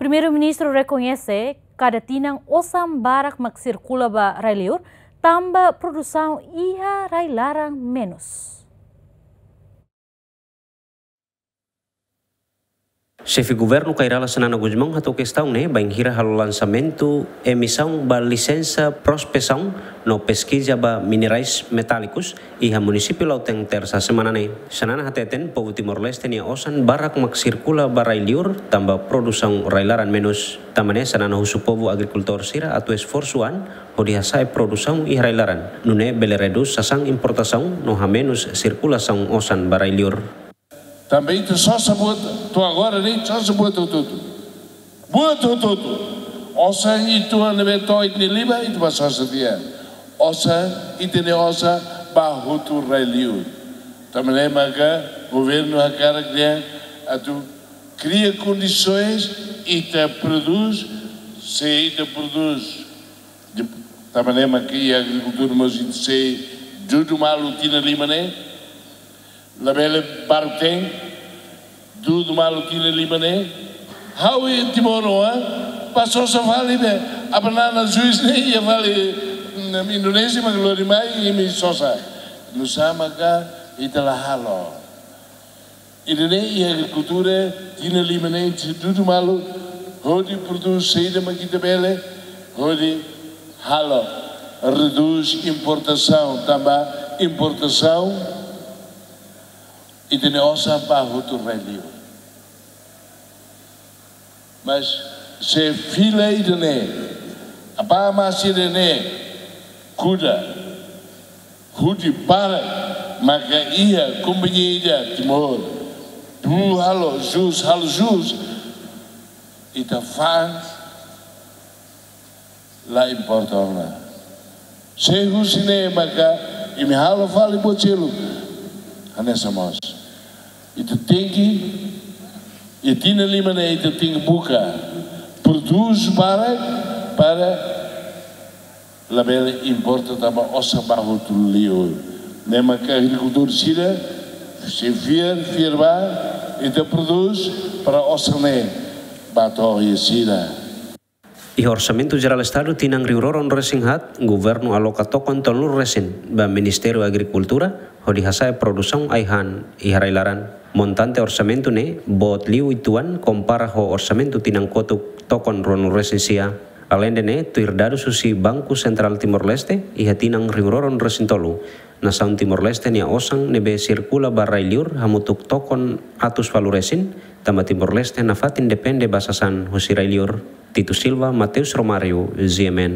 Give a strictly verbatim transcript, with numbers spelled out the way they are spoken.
Primeiru-Ministru rekoñese kada tinan osan barak mak sirkula ba rai-liur, tanba produsaun iha rai-laran menus. Xefe Governu Kay Rala Xanana Gusmão hato'o kestaun ne'e bainhira halo lansamentu emisaun ba lisensa prospesaun no peskiza ba minerais metálikus iha munisípiu Lautém, Tersa semana ne'e. Xanana hateten povu Timor-Leste nia osan barak mak sirkula ba rai-liur tanba produsaun rai-laran menus. Tanba ne'e Xanana husu povu agrikultór sira atu esforsu an hodi hasa'e produsaun iha rai-laran, nune'e bele redús sasán importasaun no hamenus sirkulasaun osan ba rai-liur. Tanba ita sosa buat, to'o agora ne'e sosa buat hotu-hotu. Buat hotu-hotu. Osan ita ne'ebé to'o ita-nia liman, ita bá sosa tiha. Osan, ita-nia osan bá hotu rai-liur. Tanba ne'e maka governu hakarak dehan atu kria kondisoens ita prodús, se ita prodús, de, tanba ne'e maka iha agrikultura mós ita sei dudu malu tinan lima ne'e, labele baruk-teen, dudu malu tinan lima ne'e. Ha'u iha Timor oan, bá sosa fali be, a banana juice ne'e iha fali, mm, Indonézia mak lori mai, imi sosa. Nusá maka ita la halo. Ida-ne'e iha agrikultura, tinan lima ne'e ita dudu malu, hodi prodús saida mak ita bele, hodi halo, redús importasaun, tanba importasaun, ita-nia osan bá hotu rai-liur. Mas se fila ida-ne'e, apá masi ida-ne'e, kuda, hudi para, maka iha kompañia ida Timor, bu halo jus, halo jus, ita fa'an, la importa ona. Se husi ne'e maka imi halo fali buat seluk, hanesan mós. Ita tenke, iha tinan lima ne'e ita tenke buka prodús barak para labele importa tanba osan bá hotu liu. Ne'e maka agrikultór sira sei fiar, fiar bá, ita prodús para osan ne'e bá to'o iha sira. Iha Orsamentu Jerál Estadu tinan rihun rua ruanulu-resin-haat, governu aloka tokon tolunulu-resin ba Ministériu Agrikultura hodi hasa'e produsaun ai-han iha rai-laran. Montante orsamentu ne'e boot liu uitoan kompara ho orsamentu tinan kotuk tokon ruanulu-resin-sia. Aleinde ne'e, tuir dadus husi Banku Sentrál Timor-Leste, iha tinan rihun rua ruanulu-resin-tolu, nasaun Timor-Leste nia osan ne'ebé sirkula ba rai-liur hamutuk tokon atus ualu-resin, tanba Timor-Leste nafatin depende ba sasán husi rai-liur. Tito Silva, Mateus Romário, G M N.